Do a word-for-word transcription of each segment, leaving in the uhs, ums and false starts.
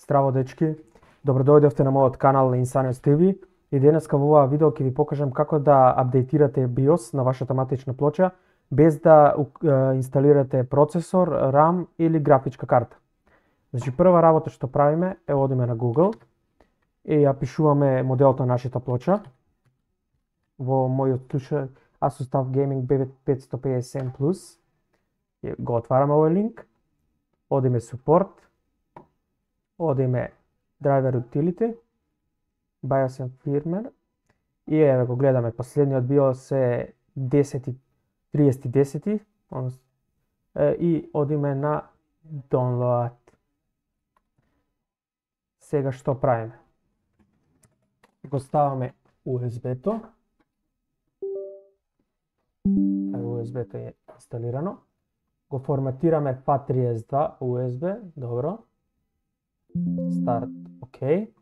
Здраво дечки, добро дојдовте на мојот канал Insaneos ти ви и денеска во оваа видео ќе ви покажам како да апдейтирате BIOS на вашата матична плоча без да инсталирате процесор, RAM или графичка карта. Значи прва работа што правиме е одиме на Google и ја пишуваме моделот на нашата плоча. Во мојот случај Asus TUF Gaming B петстотини и педесет М плюс. Го отвараме овој линк, одиме Support, одиме Driver Utility, BIOS and Firmware и еве го гледаме последниот BIOS е десет тридесет десет и одиме на Download. Сега што правиме? Го ставаме ю ес би-то. ю ес би-то е инсталирано. Го форматираме F A T триесет и два ю ес би, добро. Старт, окей.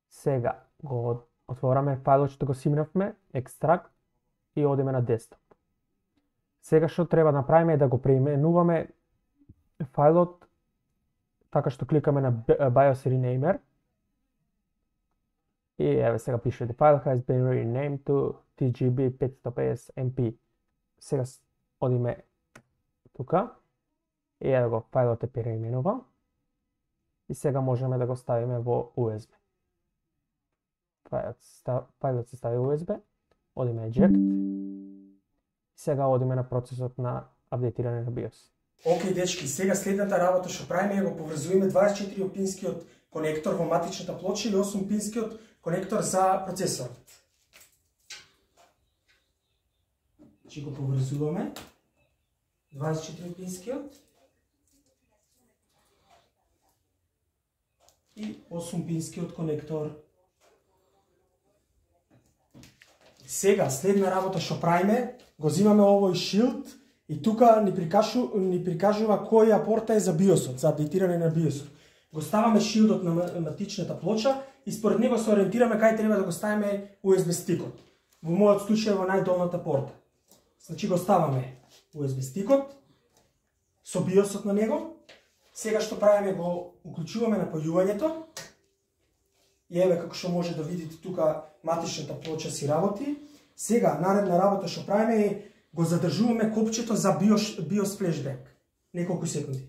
Сега го отвораме фајлот што го симнавме, екстракт и одиме на десктоп. Сега што треба да направиме е да го преименуваме фајлот така што кликаме на BIOS Renamer. И еве сега пише the file has been renamed to T G B петстотини и педесет М P. Сега одиме тука и еве го фајлот е преименуван. И сега можеме да го ставиме во ю ес би. Фајлот се стави во ю ес би, одиме eject. Сега одиме на процесот на апдейтирање на BIOS. Океј дечки, сега следната работа што правиме е го поврзуваме дваесет и четири пинскиот конектор во матичната плоча или осум пинскиот конектор за процесорот. Значи го поврзуваме дваесет и четири пинскиот и осум пинскиот конектор. Сега, следна работа што правиме, го земаме овој шилд и тука ни, прикажу, ни прикажува која порта е за BIOS-от, за апдейтирање на BIOS-от. Го ставаме шилдот на матичната плоча и според него се ориентираме кај треба да го ставиме ю ес би стикот. Во мојот случај во најдолната порта. Значи го ставаме ю ес би стикот со BIOS-от на него. Сега што правиме, го уклучуваме напојувањето. И еве како што може да видите тука матичната плоча си работи. Сега наредна работа што правиме е го задржуваме копчето за BIOS, BIOS flashback. Неколку секунди.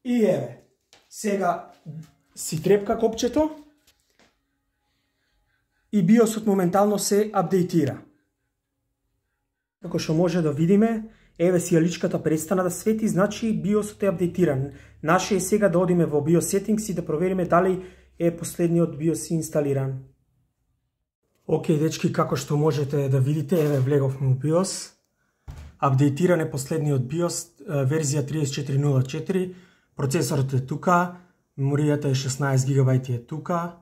И еве, сега си трепка копчето и BIOS-от моментално се апдейтира. Како што може да видиме, еве сијаличката престана да свети, значи BIOS-от е апдейтиран. Наше е сега да одиме во BIOS settings и да провериме дали е последниот BIOS инсталиран. Океј дечки, како што можете да видите, еве влеговме во BIOS. Апдейтиран е последниот BIOS, верзија триесет и четири нула четири. Процесорот е тука, меморијата е шеснаесет гигабајти е тука.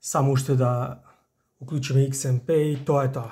Само уште да уклучиме X M P и тоа е тоа.